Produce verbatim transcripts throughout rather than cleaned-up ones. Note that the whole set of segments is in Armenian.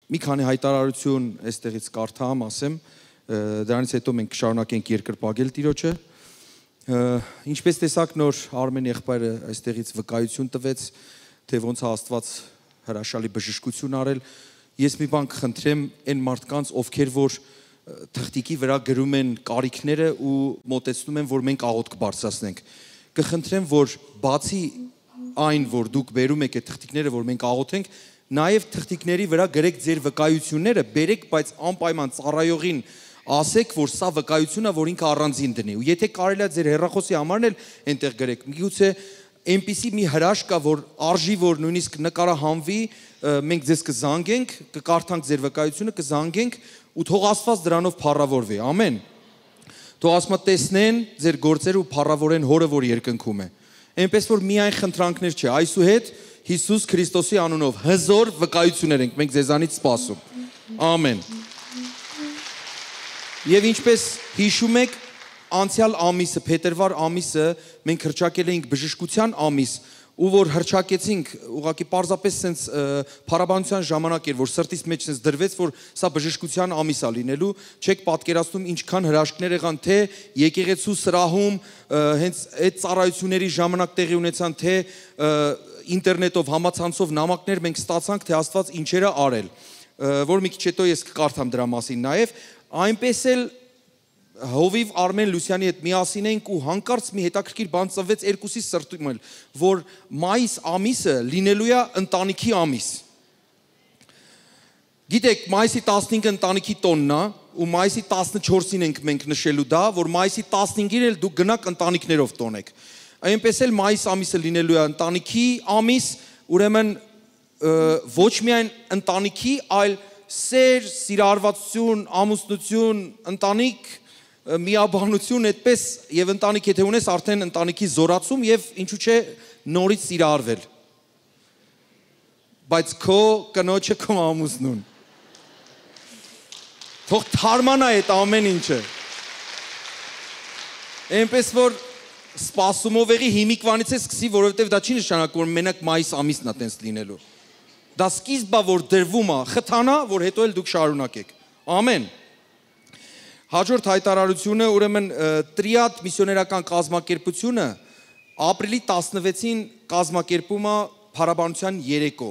Մի քանի հայտարարություն այստեղից կարդամ, ասեմ, դրանից հետո մենք կշարունակենք երկրպագել Տիրոջը։ Ինչպես տեսակ նոր Արմեն եղբայրը այստեղից վկայություն տվեց, թե ոնց է Աստված հրաշալի բժշկություն արել։ Ես մի բան կխնդրեմ այն մարդկանց, ովքեր որ թղթիկի վրա գրում են կարիքները ու մոտեցնում են, որ մենք աղոթք բարձրացնենք։ Կխնդրեմ, որ բացի այն, որ դուք բերում եք այդ թղթիկները, որ մենք աղոթենք, նաև թղթիկների վրա գրեք ձեր վկայությունները, բերեք, բայց անպայման ծառայողին ասեք, որ սա վկայությունն է, որ ինքը առանձին դնի։ Ու եթե կարելի է ձեր հեռախոսի համարն էլ այնտեղ գրեք։ Միգուցե այնպիսի մի հրաշք կա, որ արժի, որ նույնիսկ նկարահանվի, մենք ձեզ կզանգենք, կկարդանք ձեր վկայությունը, կզանգենք ու թող Աստված դրանով փառավորվի։ Ամեն։ Թող Աստված տեսնեն ձեր գործերը ու փառավորեն Հորը, որ երկնքում է։ Այնպես որ միայն խնդրանքներ չէ, այսուհետ Հիսուս Քրիստոսի անունով հզոր վկայություններ ենք մենք ձեզանից սպասում։ Ամեն։ Եվ ինչպես հիշում եք, անցյալ ամիսը, փետրվար ամիսը մենք հռչակել էինք բժշկության ամիս, ու որ հռչակեցինք, ուղղակի պարզապես sense փառաբանության ժամանակ էր, որ սրտից մեջ sense դրվեց, որ սա բժշկության ամիս է լինելու, չեք պատկերացնում ինչքան հրաշքներ եղան, թե եկեղեցու սրահում հենց այդ ծառայությունների ժամանակ տեղի ունեցան, թե ինտերնետով համացանցով նամակներ մենք ստացանք, թե Աստված ինչեր է արել, որ մի քիչ հետո ես կկարդամ դրա մասին նաև, այնպես էլ Հովիվ Արմեն Լուսյանի հետ միասին ենք ու հանկարծ մի հետաքրքիր բան ծնվեց երկուսի սրտում էլ, որ մայիս ամիսը լինելու է ընտանիքի ամիս։ Գիտեք, մայիսի տասնհինգը ընտանիքի տոնն է, ու մայիսի տասնչորսին ենք մենք նշելու դա, որ մայիսի տասնհինգին էլ դուք գնաք ընտանիքներով տոնեք։ Այնպես էլ մայիս ամիսը լինելու է ընտանիքի ամիս, ուրեմն ոչ միայն ընտանիքի, այլ սեր, սիրահարվածություն, ամուսնություն, ընտանիք, միաբանություն, այդպես եւ ընտանիք եթե ունես արդեն ընտանիքի զորացում եւ ինչու՞ չէ նորից սիրահարվել։ Բայց քո կնոջը քո ամուսնուն։ Թող թարմանա այդ ամեն ինչը։ Այնպես որ սպասումով եղի հիմիկվանից է սկսի, որովհետեւ դա չի նշանակում, որ մենակ մայիս ամիսն է տենց լինելու։ Դա սկիզբը որ դրվում է, խթանա, որ հետո էլ դուք շարունակեք։ Ամեն։ Հաջորդ հայտարարությունը, ուրեմն Տրիադ միսիոներական կազմակերպությունը ապրիլի տասնվեցին կազմակերպում է փառաբանության երեկո,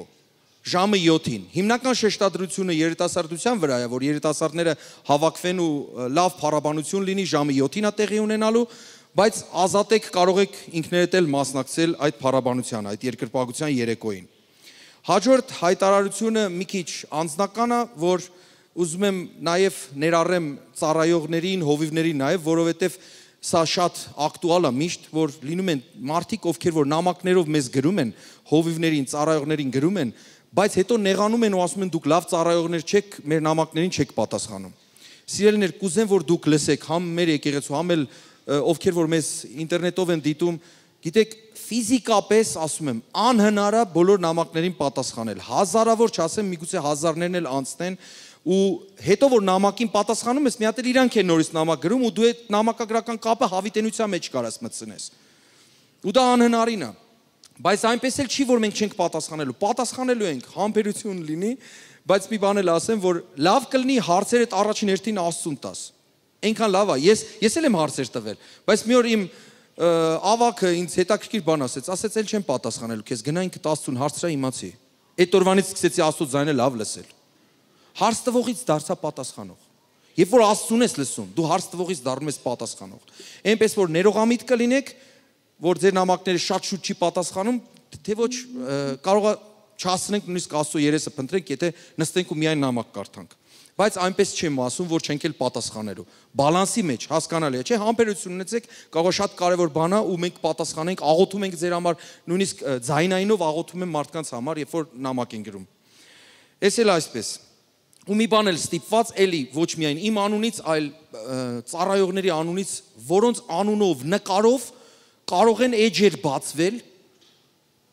ժամը յոթին։ Հիմնական շեշտադրությունը երիտասարդության վրա է, որ երիտասարդները հավաքվեն ու լավ փառաբանություն լինի, ժամը յոթին է տեղի ունենալու, բայց ազատեք կարող եք ինքներդ էլ մասնակցել այդ փառաբանությանը, այդ երկրպագության երեկոյին։ Հաջորդ հայտարարությունը մի քիչ անձնական է, որ ուզում եմ նաև ներառեմ ծառայողներին, հովիվներին նաև, որովհետև սա շատ ակտուալ է միշտ, որ լինում են մարդիկ, ովքեր որ նամակներով մեզ գրում են, հովիվներին, ծառայողներին գրում են, բայց հետո նեղանում են ու ասում են դուք լավ ծառայողներ չեք, մեր նամակներին չեք պատասխանում։ Սիրելիներ, կուզեմ որ դուք լսեք, համ մեր եկեղեցու, համ էլ ովքեր որ մեզ ինտերնետով են դիտում, գիտեք, ֆիզիկապես ասում եմ, անհնար է բոլոր նամակներին պատասխանել։ Հազարավոր չասեմ, միգուցե հազարներն էլ անցնեն ու հետո որ նամակին պատասխանում ես, մի հատ էլ իրանք են նորից նամակ գրում ու դու այդ նամակագրական կապը հավիտենության մեջ կարաս մտցնես։ Ու դա անհնարին է։ Բայց այնպես էլ չի, որ մենք չենք պատասխանելու։ Պատասխանելու ենք, համբերություն լինի, բայց մի բան էլ ասեմ, որ լավ կլինի հարցերդ առաջին հերթին Աստծուն տաս։ Այնքան լավ է։ Ես ես էլ եմ հարցեր տվել, բայց մի օր իմ ավակը ինձ հետաքրքիր բան ասեց, ասեց էլ չեմ պատասխանելու քեզ, գնա ինքդ Աստծուն հարցրա իմացի։ Այդ օրվանից սկսեցի Աստծո ձայնը լավ լսել։ Հարց տվողից դարձա պատասխանող։ Երբ որ Աստծուն ես լսում, դու հարց տվողից դառնում ես պատասխանող։ Այնպես որ ներողամիտ կլինեք, որ ձեր նամակները շատ շուտ չի պատասխանում, թե ոչ կարող է չասնենք նույնիսկ Աստծո երեսը փնտրենք, եթե նստենք ու միայն նամակ կարդանք։ Բայց այնպես չեմ ասում, որ չենք էլ պատասխանելու։ Բալանսի մեջ հասկանալի է, չէ՞, համբերություն ունեցեք, կարող է շատ կարևոր բան է ու մենք պատասխանենք, աղոթում ենք ձեր համար, նույնիսկ ձայնայինով աղոթում եմ մարդկանց համար, երբ որ նամակ են գրում։ Էս էլ այսպես։ Ու մի բան էլ ստիպված էլի ոչ միայն իմ անունից, այլ ծառայողների անունից, որոնց անունով նկարով կարող են էջեր բացվել։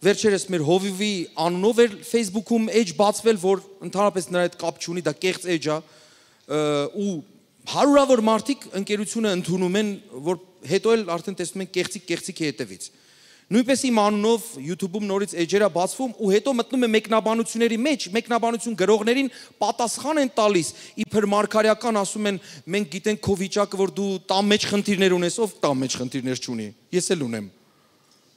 Վերջերս մեր հովիվի անունով էր Facebook-ում էջ բացվել, որ ընդհանրապես նրա հետ կապ չունի, դա կեղծ էջ է, ու հարյուրավոր մարդիկ ընկերությունը ընդունում են, որ հետո էլ արդեն տեսնում են կեղծիկ կեղծիկի հետևից։ Նույնպես իմ անունով YouTube-ում նորից էջերա բացվում ու հետո մտնում է մեկնաբանությունների մեջ, մեկնաբանություն գրողներին պատասխան են տալիս, իբր մարգարեական ասում են, մենք գիտենք քո վիճակը, որ դու տան մեջ խնդիրներ ունես, ով տան մեջ խնդիրներ չունի։ Ես էլ ունեմ։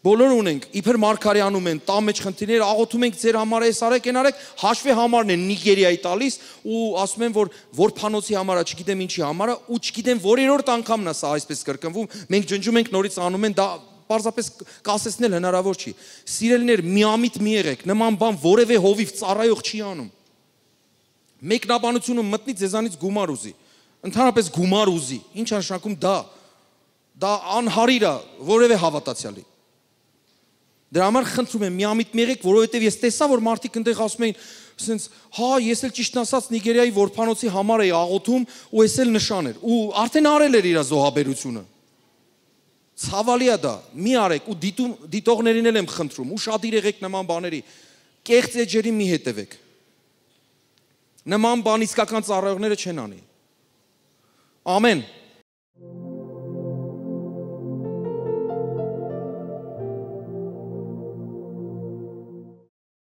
Բոլորը ունենք, իբր մարգարեանում են, տան մեջ խնդիրներ, աղոթում ենք ձեր համար էս արեք, այն արեք, հաշվի համարն են Նիգերիայի տալիս ու ասում են, որ որփանոցի համար է, չգիտեմ ինչի համար է, ու չգիտեմ որերորդ անգամն է սա այսպես կրկնվում, մենք ջնջում ենք նորից անում են, դա պարզապես կասեցնել հնարավոր չի։ Սիրելիներ, միամիտ մի եղեք, նման բան որևէ հովիվ ծառայող չի անում։ Մեկնաբանությունը մտնի ձեզանից գումար ուզի, ընդհանրապես գումար ուզի, ինչ է նշանակում դա։ Դա անհարիր է որևէ հավատացյալի։ Դրա համար խնդրում եմ միամիտ մի եղեք, որովհետև ես տեսա, որ մարդիկ այնտեղ ասում էին, ասենց, հա, ես էլ ճիշտն ասած Նիգերիայի որփանոցի համար էի աղոթում ու ես էլ նշան էր, ու արդեն արել էր իր զոհաբերությունը։ Ցավալի է դա, մի արեք ու դիտում դիտողներին էլ եմ խնդրում, ուշադիր եղեք նման բաների, կեղծ էջերի մի հետևեք։ Նման բան իսկական ծառայողները չեն անի։ Ամեն։